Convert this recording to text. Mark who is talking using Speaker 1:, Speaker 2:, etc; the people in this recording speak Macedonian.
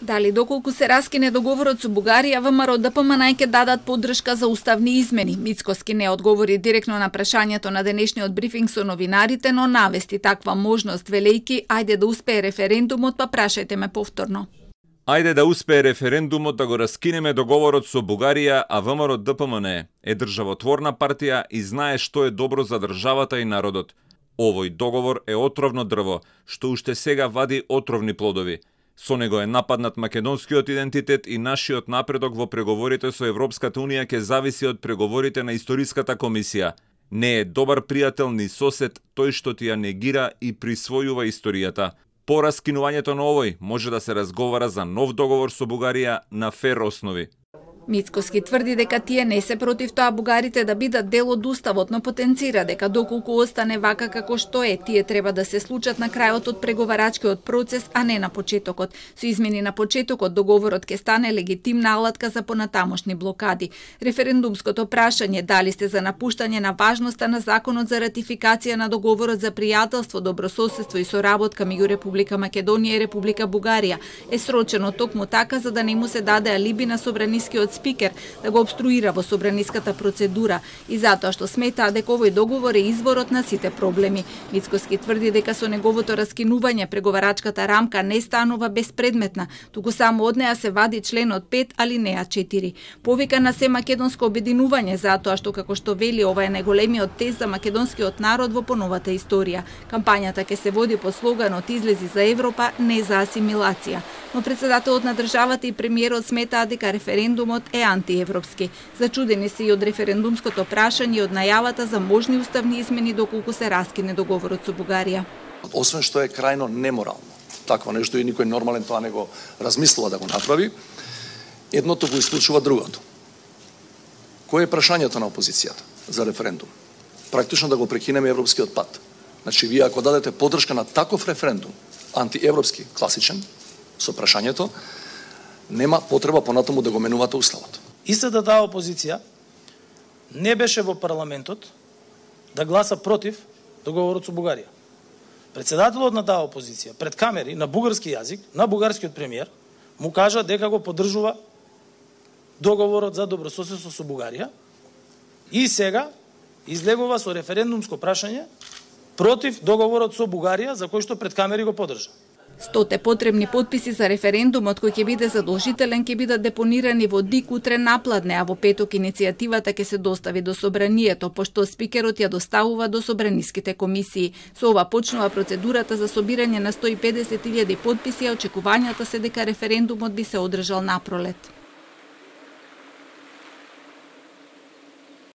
Speaker 1: Дали доколку се раскине договорот со Бугарија, ВМРО ДПМН ќе дадат поддршка за уставни измени. Мицкоски не одговори директно на прашањето на денешниот брифинг со новинарите, но навести таква можност, велејки, ајде да успее референдумот, па прашајте ме повторно.
Speaker 2: Ајде да успее референдумот да го раскинеме договорот со Бугарија, а ВМРО ДПМН е државотворна партија и знае што е добро за државата и народот. Овој договор е отровно дрво, што уште сега вади отровни плодови. Со него е нападнат македонскиот идентитет и нашиот напредок во преговорите со Европската Унија ќе зависи од преговорите на Историската комисија. Не е добар пријател ни сосед тој што ти ја негира и присвојува историјата. По раскинувањето на овој може да се разговара за нов договор со Бугарија на фер основи.
Speaker 1: Мицкоски тврди дека тие не се против тоа бугарите да бидат дел од уставот, но потенцира дека доколку остане вака како што е, тие треба да се случат на крајот од преговарачкиот процес, а не на почетокот. Со измени на почетокот, договорот ќе стане легитимна алатка за понатамошни блокади. Референдумското прашање дали сте за напуштање на важноста на законот за ратификација на договорот за пријателство, добрососедство и соработка меѓу Република Македонија и Република Бугарија е срочено токму така за да не му се даде алиби на собранискиот спикер да го обструира во собраниската процедура и затоа што сметаа дека овој договор е изворот на сите проблеми. Мицкоски тврди дека со неговото раскинување преговарачката рамка не станува безпредметна, туку само од неа се вади членот 5 алинеа 4. Повика на се македонско обединување затоа што како што вели ова е најголемиот тест за македонскиот народ во поновата историја. Кампањата ќе се води под слоганот "Излези за Европа, не за асимилација". Но председателот на државата и премиерот сметаа дека референдумот е антиевропски. Зачудени се и од референдумското прашање и од најавата за можни уставни измени доколку се раскине договорот со Бугарија.
Speaker 3: Освен што е крајно неморално, такво нешто и никој нормален тоа не го размислува да го направи, едното го исклучува другото. Кој е прашањето на опозицијата за референдум? Практично да го прекинеме европскиот пат. Значи, вие ако дадете поддршка на таков референдум, антиевропски, класичен, со прашањето, нема потреба понатаму да го менувате уставот.
Speaker 4: Истата таа опозиција не беше во парламентот да гласа против договорот со Бугарија. Председателот на таа опозиција пред камери на бугарски јазик, на бугарскиот премиер, му кажа дека го поддржува договорот за добрососедство со Бугарија и сега излегува со референдумско прашање против договорот со Бугарија за кој што пред камери го поддржа.
Speaker 1: 100 потребни потписи за референдумот кој ќе биде задолжителен ќе бидат депонирани во ДИК утре напладне, а во петок иницијативата ќе се достави до собранието, пошто спикерот ја доставува до собраниските комисии. Со ова почнува процедурата за собирање на 150.000 потписи, а очекувањата се дека референдумот би се одржал напролет.